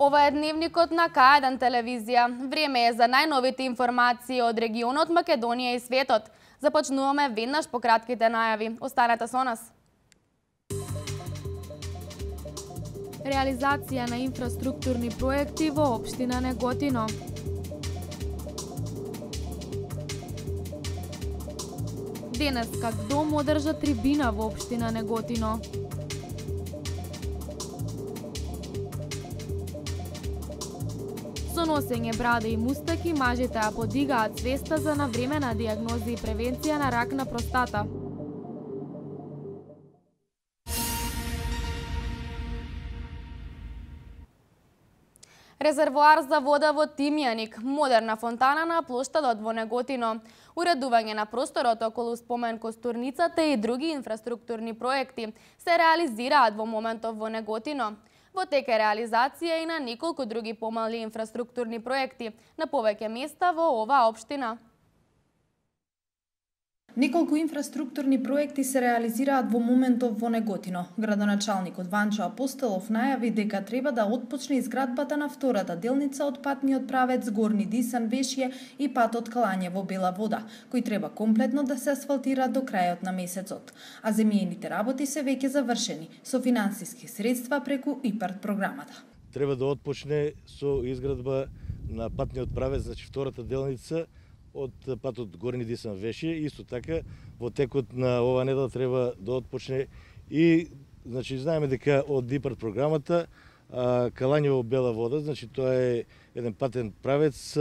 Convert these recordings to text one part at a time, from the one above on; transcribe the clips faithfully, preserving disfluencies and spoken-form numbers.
Ова е дневникот на К еден телевизија. Време е за најновите информации од регионот Македонија и светот. Започнуваме веднаш по кратките најави. Останете со нас. Реализација на инфраструктурни проекти во општина Неготино. Денес как дом одржа трибина во општина Неготино. Со носење браде и мустаки, мажите ја подигаат свеста за навремена дијагноза и превенција на рак на простата. Резервоар за вода во Тимјаник, модерна фонтана на плоштадот во Неготино, уредување на просторот околу спомен костурницата и други инфраструктурни проекти се реализираат во моментов во Неготино. Во тек е реализација и на неколку други помали инфраструктурни проекти на повеќе места во оваа општина. Неколку инфраструктурни проекти се реализираат во моментов во Неготино. Градоначалникот Ванчо Апостолов најави дека треба да отпочне изградбата на втората делница од патниот правец Горни Дисан-Вешје и патот Калањево Бела Вода, кој треба комплетно да се асфалтира до крајот на месецот. А земјените работи се веќе завршени со финансиски средства преку ИПАРД програмата. Треба да отпочне со изградба на патниот правец, значи втората делница од патот Горни Дисан-Вешје. Исто така во текот на ова недела треба да отпочне и значи знаеме дека од ИПАРД програмата а, Калањево Бела Вода, значи тоа е еден патен правец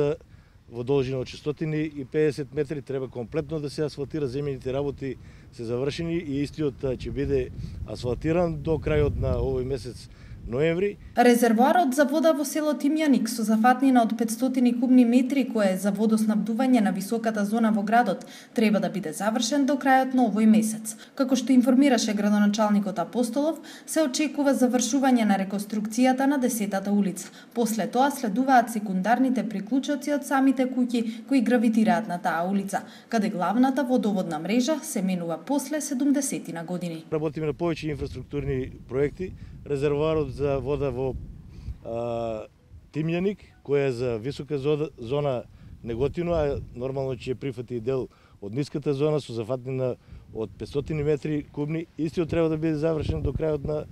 во должина од шестстотини и педесет метри, треба комплетно да се асфалтира, земјените работи се завршени и истиот ќе биде асфалтиран до крајот на овој месец ноември. Резервоарот за вода во село Тимјаник со зафатнина од петстотини кубни метри, која е за водоснабдување на високата зона во градот, треба да биде завршен до крајот на овој месец. Како што информираше градоначалникот Апостолов, се очекува завршување на реконструкцијата на десетата улица. После тоа следуваат секундарните приклучоци од самите куќи кои гравитираат на таа улица, каде главната водоводна мрежа се менува после седумдесетина години. Работиме на повеќе инфраструктурни проекти. Резервоарот за вода во а, Тимјаник, која е за висока зона, зона Неготино, а нормално ќе прифати дел од ниската зона со зафатнина од петстотини метри кубни. Истиот треба да биде завршен до крајот на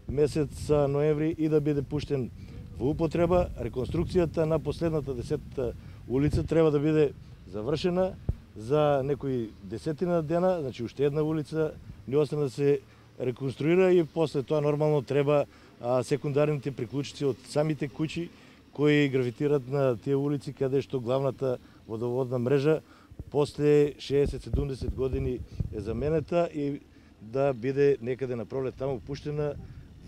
месец ноември и да биде пуштен во употреба. Реконструкцијата на последната десетата улица треба да биде завршена за некои десетина дена, значи уште една улица не остана да се реконструира и после тоа нормално треба а, секундарните приклучици од самите куќи кои гравитираат на тие улици каде што главната водоводна мрежа после шеесет-седумдесет години е заменета и да биде некаде на пролет таму пуштена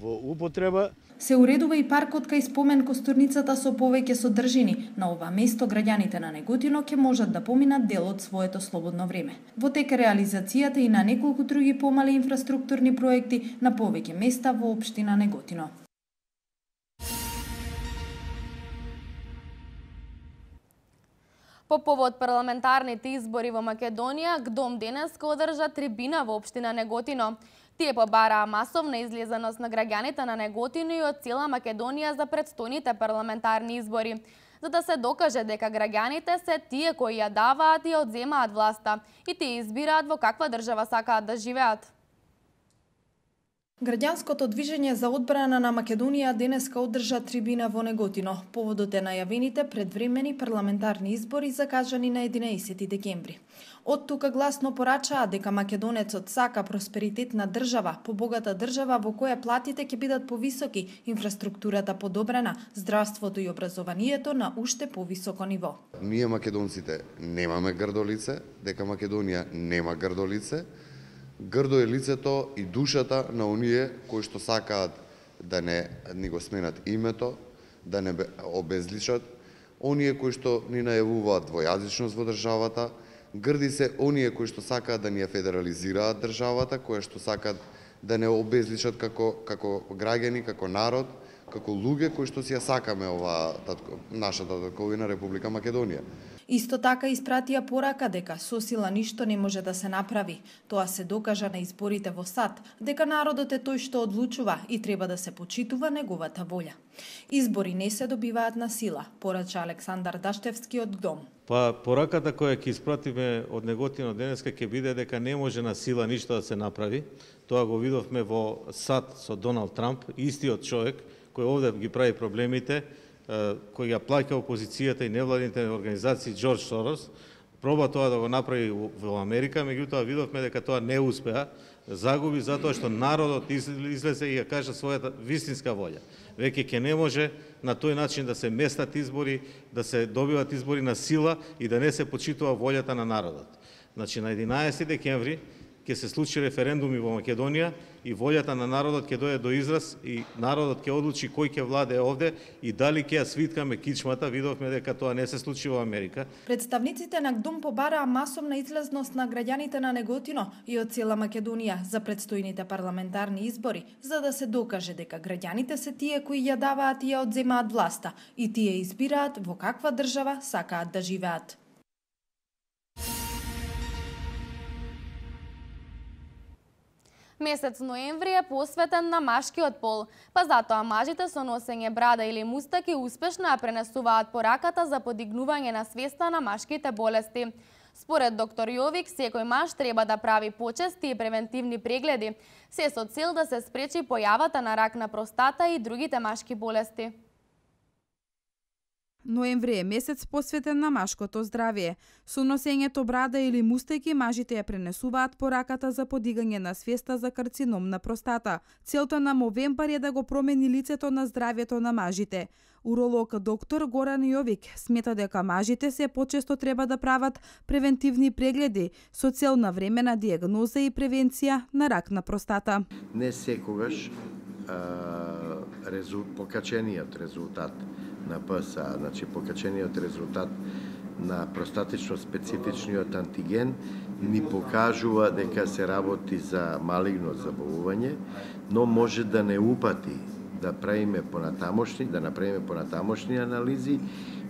во употреба. Се уредува и паркот кај спомен костурницата со повеќе содржини. На ова место граѓаните на Неготино ќе можат да поминат дел од своето слободно време. Во тек е реализацијата и на неколку други помали инфраструктурни проекти на повеќе места во општина Неготино. По повод парламентарните избори во Македонија, ГДОМ денеска одржа трибина во општина Неготино. Тие побараа масовна излезеност на граѓаните на Неготино и од цела Македонија за претстојните парламентарни избори, за да се докаже дека граѓаните се тие кои ја даваат и ја одземаат власта и тие избираат во каква држава сакаат да живеат. Граѓанското движење за одбрана на Македонија денеска одржа трибина во Неготино. Поводот е најавените предвремени парламентарни избори закажани на единаесети декември. Од тука гласно порачаа дека македонецот сака просперитетна држава, побогата држава во која платите ќе бидат повисоки, инфраструктурата подобрена, здравството и образованието на уште повисоко ниво. Ние македонците немаме грдолице, дека Македонија нема грдолице. Грдо е лицето и душата на оние кои што сакаат да не ни го сменат името, да не обезличат, оние кои што ни најавуваат двојазичност во државата, грди се оние кои што сакаат да ни ја федерализираат државата, кои што сакаат да не обезличат како како граѓани, како народ, како луѓе кои што си ја сакаме ова татко, нашата татковина Република Македонија. Исто така испратија порака дека со сила ништо не може да се направи. Тоа се докажа на изборите во САД, дека народот е тој што одлучува и треба да се почитува неговата волја. Избори не се добиваат на сила, порача Александар Даштевски од ГДОМ. Па пораката која ќе испратиме од Неготино денеска ќе биде дека не може на сила ништо да се направи. Тоа го видовме во САД со Доналд Трамп, истиот човек кој овде ги прави проблемите, кој ја плаќа опозицијата и невладините организации Џорџ Сорос, проба тоа да го направи во Америка, меѓутоа видовме дека тоа не успеа, загуби затоа што народот излезе и ја кажа својата вистинска волја. Веќе ќе не може на тој начин да се местат избори, да се добиват избори на сила и да не се почитува волјата на народот. Значи на единаесети декември ќе се случи референдуми во Македонија и волјата на народот ќе дојде до израз и народот ќе одлучи кој ќе владее овде и дали ќе ја свиткаме кичмата. Видовме дека тоа не се случи во Америка. Представниците на ГДОМ побараа масовна излезност на граѓаните на Неготино и од цела Македонија за предстојните парламентарни избори, за да се докаже дека граѓаните се тие кои ја даваат и ја одземаат власта и тие избираат во каква држава сакаат да живеат. Месец ноември е посветен на машкиот пол, па затоа мажите со носење брада или мустаки успешно ја пренесуваат пораката за подигнување на свеста на машките болести. Според доктор Јовик, секој маж треба да прави почести и превентивни прегледи, се со цел да се спречи појавата на рак на простата и другите машки болести. Ноември е месец посветен на машкото здравје. Со носењето брада или мустаки, мажите ја пренесуваат пораката за подигање на свеста за карцином на простата. Целта на Мовембар е да го промени лицето на здравјето на мажите. Уролог доктор Горан Јовик смета дека мажите се почесто треба да прават превентивни прегледи со цел на времена дијагноза и превенција на рак на простата. Не секогаш а, резул, покачениот резултат на ПСА, значи покачениот резултат на простатично специфичниот антиген ни покажува дека се работи за малигно заболување, но може да не упати да правиме понатамошни, да направиме понатамошни анализи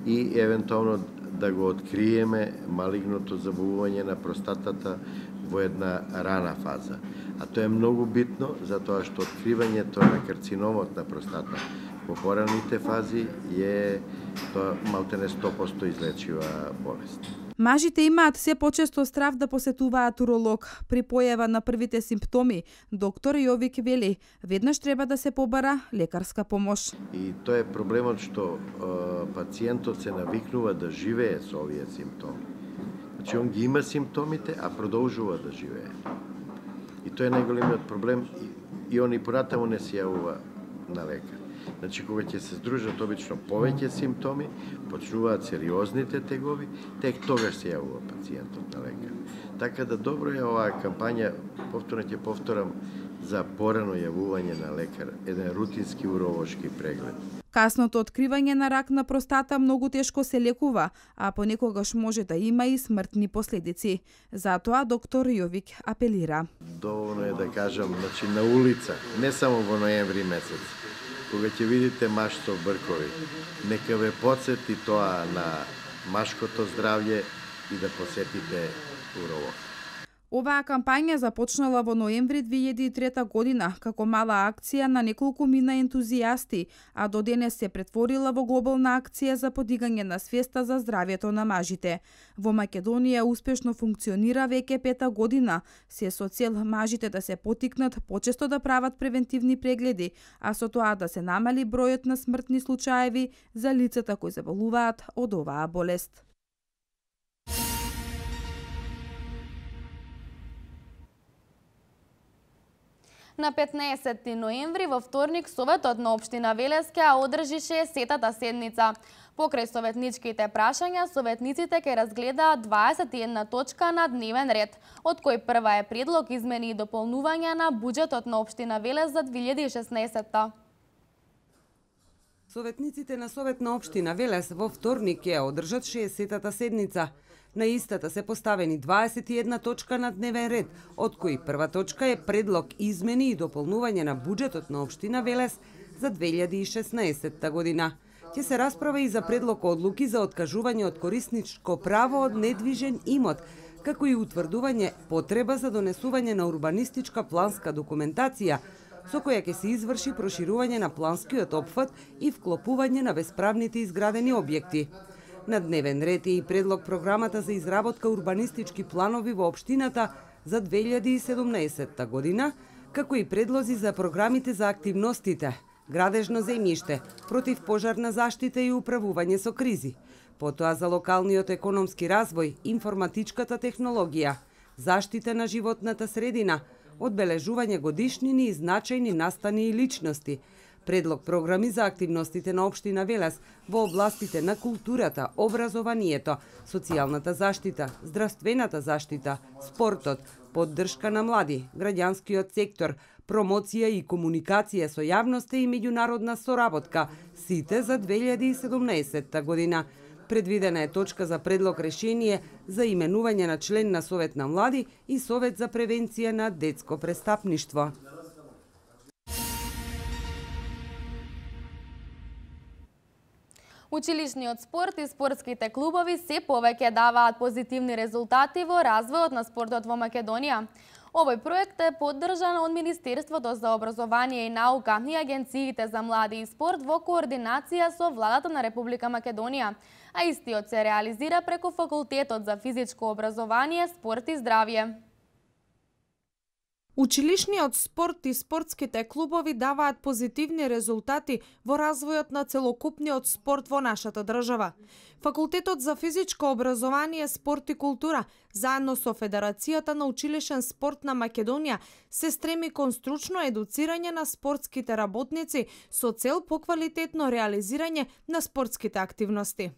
и евентуално да го откриеме малигното заболување на простатата во една рана фаза. А тоа е многу битно, затоа што откривањето на карциномот на простата во пораните фази е тоа малтене сто проценти излечива болест. Мажите имаат се почесто страв да посетуваат уролог. При појава на првите симптоми, доктор Јовик вели, веднаш треба да се побара лекарска помош. И тоа е проблемот што е, пациентот се навикнува да живее со овие симптоми. Значи он ги има симптомите, а продолжува да живее. И тоа е најголемиот проблем и, и он и понатаму не се јавува на лекар. Значи, кога ќе се здружат обично повеќе симптоми, почнуваат сериозните тегови, тек тогаш се јавува пациентот на лекар. Така да добро е оваа кампања, повторно ќе повторам, за порано јавување на лекар, еден рутински уролошки преглед. Касното откривање на рак на простата многу тешко се лекува, а понекогаш може да има и смртни последици. Затоа доктор Јовик апелира. Доволно е да кажам, значи на улица, не само во ноември месец, кога ќе видите маж со бркови, нека ве потсети тоа на машкото здравје и да посетите уролог. Оваа кампања започнала во ноември две илјади и трета година како мала акција на неколку мина ентузијасти, а до денес се претворила во глобална акција за подигање на свеста за здравјето на мажите. Во Македонија успешно функционира веќе пета година, се со цел мажите да се поттикнат почесто да прават превентивни прегледи, а со тоа да се намали бројот на смртни случаеви за лицата кои заболуваат од оваа болест. На петнаесети ноември во вторник Советот на општина Велески ја одржи шеесеттата седница. Покрај советничките прашања, советниците ќе разгледаат дваесет и една точка на дневен ред, од кој прва е предлог измени и дополнување на буџетот на општина Велес за две илјади и шеснаесетта. Советниците на Совет на општина Велес во вторник ќе одржат шеесеттата седница. На истата се поставени дваесет и една точка на дневен ред, од кои прва точка е предлог измени и дополнување на буџетот на општина Велес за две илјади и шеснаесетта година. Ќе се расправа и за предлог одлуки за откажување од корисничко право од недвижен имот, како и утврдување потреба за донесување на урбанистичка планска документација, со која ќе се изврши проширување на планскиот опфат и вклопување на бесправните изградени објекти. На дневен ред е и предлог програмата за изработка урбанистички планови во општината за две илјади и седумнаесетта година, како и предлози за програмите за активностите, градежно земјиште, противпожарна заштита и управување со кризи, потоа за локалниот економски развој, информатичката технологија, заштита на животната средина, одбележување годишнини и значајни настани и личности, предлог програми за активностите на општина Велес во областите на културата, образованието, социјалната заштита, здравствената заштита, спортот, поддршка на млади, граѓанскиот сектор, промоција и комуникација со јавноста и меѓународна соработка, сите за две илјади и седумнаесетта година. Предвидена е точка за предлог решение за именување на член на Совет на млади и Совет за превенција на детско престапништво. Училишниот спорт и спортските клубови се повеќе даваат позитивни резултати во развојот на спортот во Македонија. Овој проект е поддржан од Министерството за образование и наука и Агенциите за млади и спорт во координација со владата на Република Македонија, а истиот се реализира преку Факултетот за физичко образование, спорт и здравје. Училишниот спорт и спортските клубови даваат позитивни резултати во развојот на целокупниот спорт во нашата држава. Факултетот за физичко образование, спорт и култура, заедно со Федерацијата на училишен спорт на Македонија, се стреми кон стручно едуцирање на спортските работници со цел поквалитетно реализирање на спортските активности.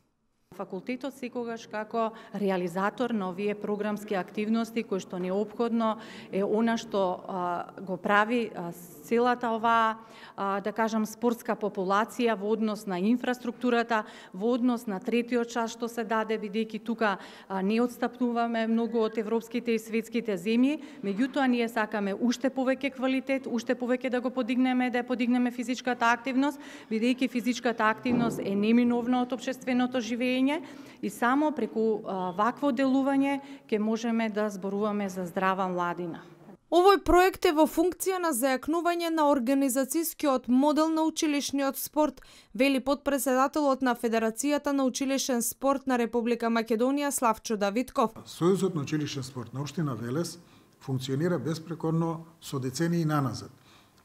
Факултетот секогаш како реализатор на овие програмски активности кои што неопходно е она што а, го прави а, целата оваа а, да кажам спортска популација во однос на инфраструктурата, во однос на третиот час што се даде, бидејќи тука а, не отстапнуваме многу од европските и светските земји, меѓутоа ние сакаме уште повеќе квалитет, уште повеќе да го подигнеме, да подигнеме физичката активност, бидејќи физичката активност е неминовна од општественото живење и само преку а, вакво делување ќе можеме да зборуваме за здрава младина. Овој проект е во функција на зајакнување на организацијскиот модел на училишниот спорт, вели потпредседателот на Федерацијата на училишен спорт на Република Македонија Славчо Давидков. Сојузот на училишен спорт на општина Велес функционира беспрекорно со децении наназад.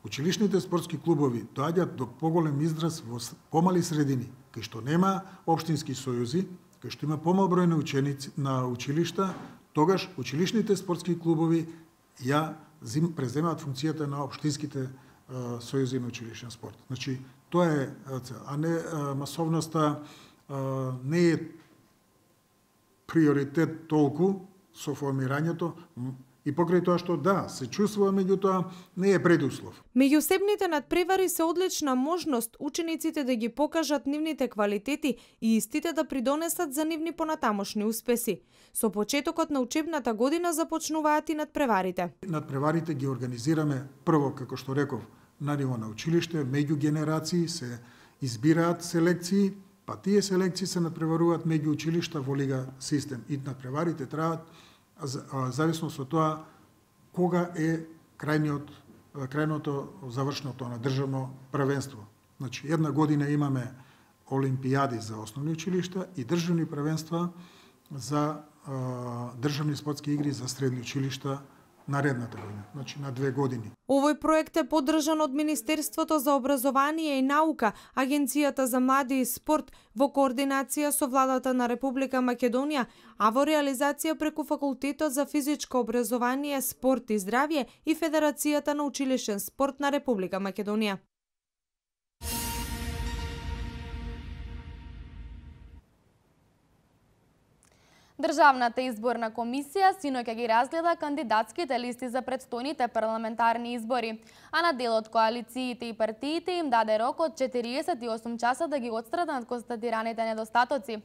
Училишните спортски клубови доаѓаат до поголем израз во помали средини, кај што нема општински сојузи, кај што има помал број на ученици на училишта, тогаш училишните спортски клубови ја зим, преземаат функцијата на општинските а, сојузи на училишен спорт. Значи, тоа е, а не а, масовноста а, не е приоритет толку со формирањето, и покрај тоа што да, се чувствува, меѓутоа не е предуслов. Меѓусебните надпревари се одлична можност учениците да ги покажат нивните квалитети и истите да придонесат за нивни понатамошни успеси. Со почетокот на учебната година започнуваат и надпреварите. Надпреварите ги организираме прво, како што реков, на ниво на училиште, меѓу генерации се избираат селекции, па тие селекции се надпреваруваат меѓу училишта во лига систем. И надпреварите траат зависно со тоа кога е крајниот крајното завршното на државно првенство. Значи една година имаме олимпијади за основни училишта и државни првенства за а, државни спортски игри за средни училишта наредната година, значи на две години. Овој проект е поддржан од Министерството за образование и наука, Агенцијата за млади и спорт во координација со владата на Република Македонија, а во реализација преку Факултетот за физичко образование, спорт и здравје и Федерацијата на училишен спорт на Република Македонија. Државната изборна комисија синоќ ги разгледа кандидатските листи за претстојните парламентарни избори, а на дел од коалициите и партиите им даде рок од четириесет и осум часа да ги отстранат констатираните недостатоци.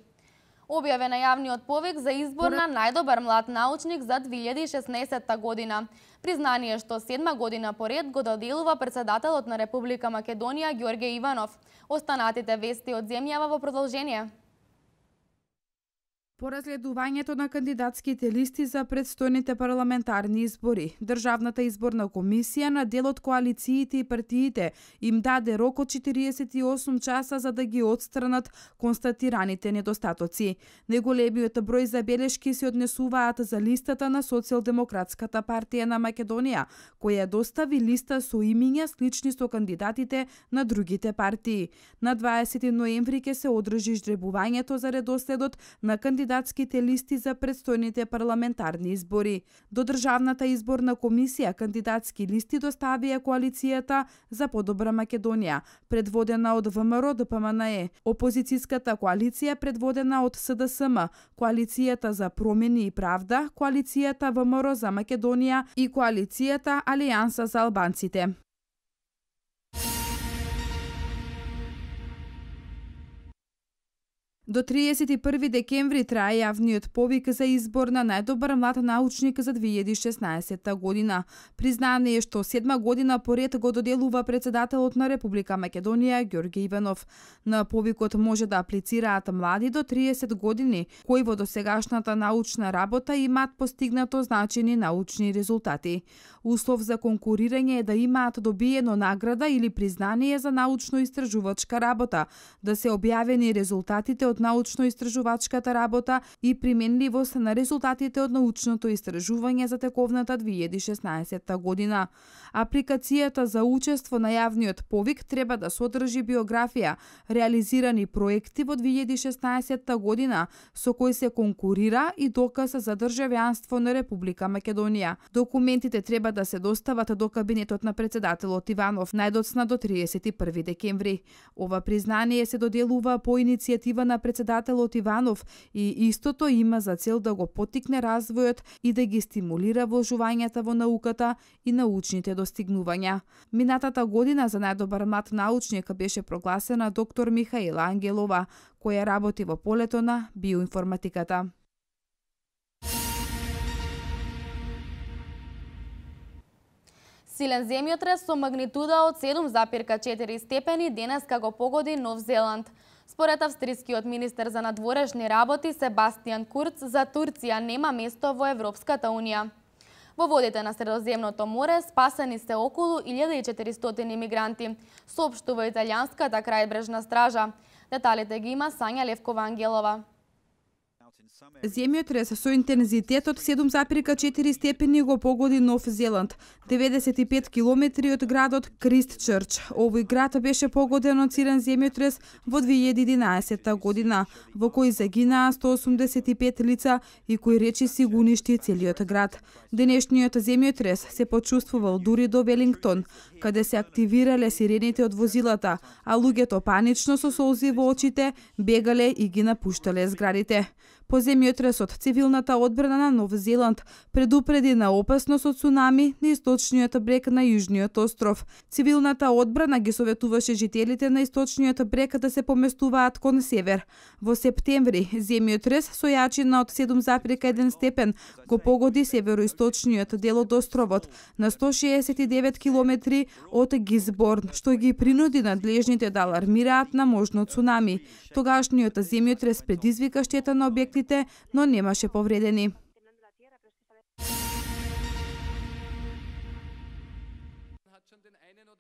Објаве на јавниот повик за избор на најдобар млад научник за две илјади и шеснаесетта година. Признание што седма година поред го доделува председателот на Република Македонија Ѓорге Иванов. Останатите вести од земјава во продолжение. По разгледувањето на кандидатските листи за претстојните парламентарни избори, Државната изборна комисија на дел од коалициите и партиите им даде рок од четириесет и осум часа за да ги отстранат констатираните недостатоци. Неголемиот број забелешки се однесуваат за листата на Социјалдемократската партија на Македонија, која достави листа со имиња слични со кандидатите на другите партии. На дваесети ноември ќе се одржи жребувањето за редоследот на кандидатите кандидатските листи за претстојните парламентарни избори. До Државната изборна комисија кандидатски листи доставија коалицијата за подобра Македонија, предводена од ВМРО Д П М Н Е, опозицијската коалиција предводена од С Д С М, коалицијата за промени и правда, коалицијата В М Р за Македонија и коалицијата Алијанса за албанците. До триесет и први декември трае јавниот повик за избор на најдобар млад научник за две илјади и шеснаесетта година. Признание што седма година поред го доделува председателот на Република Македонија Ѓорге Иванов. На повикот може да аплицираат млади до триесет години, кои во досегашната научна работа имаат постигнато значени научни резултати. Услов за конкурирање е да имаат добиено награда или признание за научно-истражувачка работа, да се објавени резултатите од научно-истражувачката работа и применливост на резултатите од научното истражување за тековната две илјади и шеснаесетта година. Апликацијата за учество на јавниот повик треба да содржи биографија, реализирани проекти во две илјади и шеснаесетта година со кои се конкурира и доказ за државјанство на Република Македонија. Документите треба да се достават до кабинетот на председателот Иванов најдоцна до триесет и први декември. Ова признание се доделува по иницијатива на председателот Иванов и истото има за цел да го поттикне развојот и да ги стимулира вложувањата во науката и научните достигнувања. Минатата година за најдобар млад научник беше прогласена доктор Михаела Ангелова, која работи во полето на биоинформатиката. Силен земјотрес со магнитуда од седум запирка четири степени денеска го погоди Нов Зеланд. Според австрискиот министер за надворешни работи Себастијан Курц, за Турција нема место во Европската унија. Во водите на Средоземното море спасени се околу илјада и четиристотини мигранти, соопштува италијанската крајбрежна стража. Деталите ги има Сања Левкова Ангелова. Земјотрес со интензитет од седум запирка четири степени го погоди Нов Зеланд, деветдесет и пет километри од градот Кристчрч. Овој град беше погоден од силен земјотрес во две илјади и единаесетта година, во кој загинаа сто осумдесет и пет лица и кој речи си го уништи целиот град. Денешниот земјотрес се почувствувал дури до Велингтон, каде се активирале сирените од возилата, а луѓето панично со солзи во очите бегале и ги напуштале зградите. По земјотресот, цивилната одбрана на Нов Зеланд предупреди на опасност од цунами на источниот брег на Јужниот остров. Цивилната одбрана ги советуваше жителите на источниот брег да се поместуваат кон север. Во септември, земјотрес со јачина од седум запирка еден степен го погоди североисточниот дел од островот на сто шеесет и девет километри од Гизборн, што ги принуди надлежните да алармираат на можно цунами. Тогашниот земјотрес предизвика штета на објекти, но немаше повредени.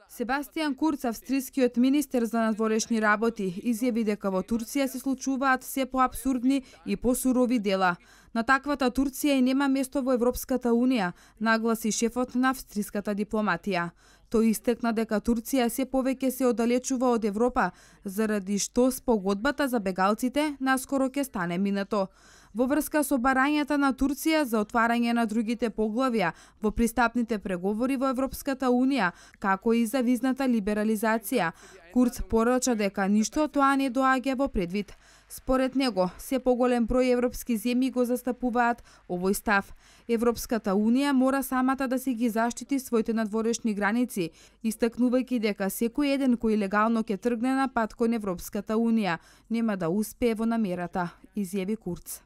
Себастијан Курц, австрискиот министер за надворешни работи, изјави дека во Турција се случуваат се поабсурдни и посурови дела. На таквата Турција и нема место во Европската унија, нагласи шефот на австриската дипломатија. Тој истакна дека Турција се повеќе се оддалечува од Европа, заради што спогодбата за бегалците наскоро ќе стане минато. Во врска со барањата на Турција за отварање на другите поглавја во пристапните преговори во Европската унија, како и за визната либерализација, Курц порача дека ништо тоа не доаѓа во предвид. Според него, се поголем број европски земји го застапуваат овој став. Европската Унија мора самата да си ги заштити своите надворешни граници, истакнувајќи дека секој еден кој легално ќе тргне на пат кон Европската Унија нема да успее во намерата, изјави Курц.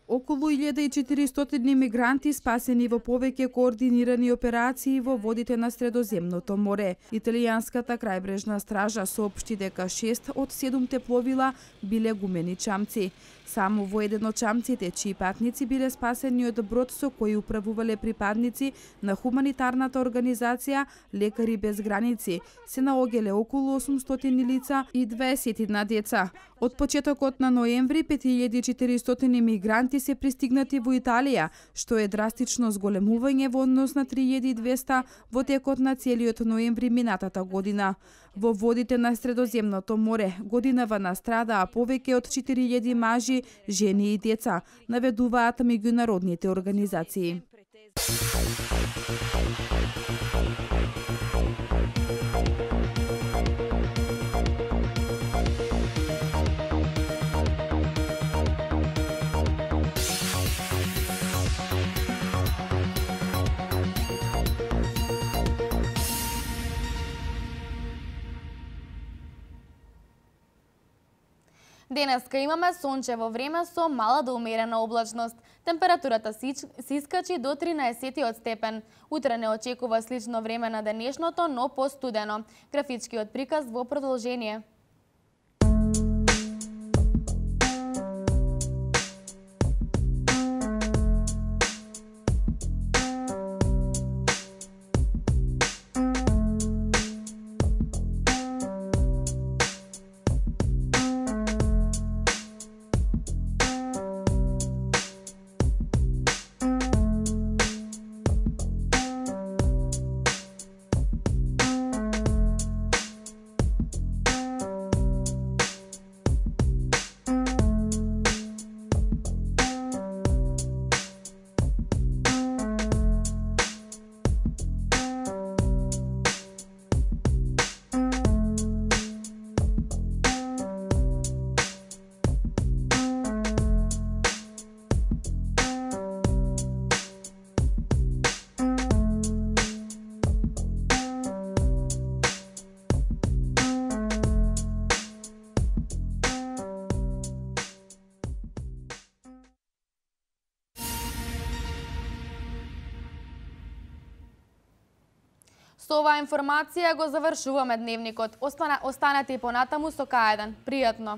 Околу илјада и четиристотини мигранти спасени во повеќе координирани операции во водите на Средоземното море. Италијанската крајбрежна стража соопшти дека шест од седумте пловила биле гумени чамци. Само во еден од чамците, чии патници биле спасени од брод со кој управувале припадници на хуманитарната организација Лекари без граници, се наоѓале околу осумстотини лица и дваесет деца. Од почетокот на ноември пет илјади и четиристотини мигранти се пристигнати во Италија, што е драстично зголемување во однос на три илјади и двесте во текот на целиот ноември минатата година. Во водите на Средоземното море годинава настрадаа повеќе од четири илјади мажи, жени и деца, наведуваат меѓународните организации. Денеска имаме сончево време со мала до умерена облачност. Температурата се искачи до тринаесет степен. Утре не очекува слично време на денешното, но постудено. Графичкиот приказ во продолжение. Со оваа информација го завршуваме дневникот. Останете и понатаму со К еден. Пријатно!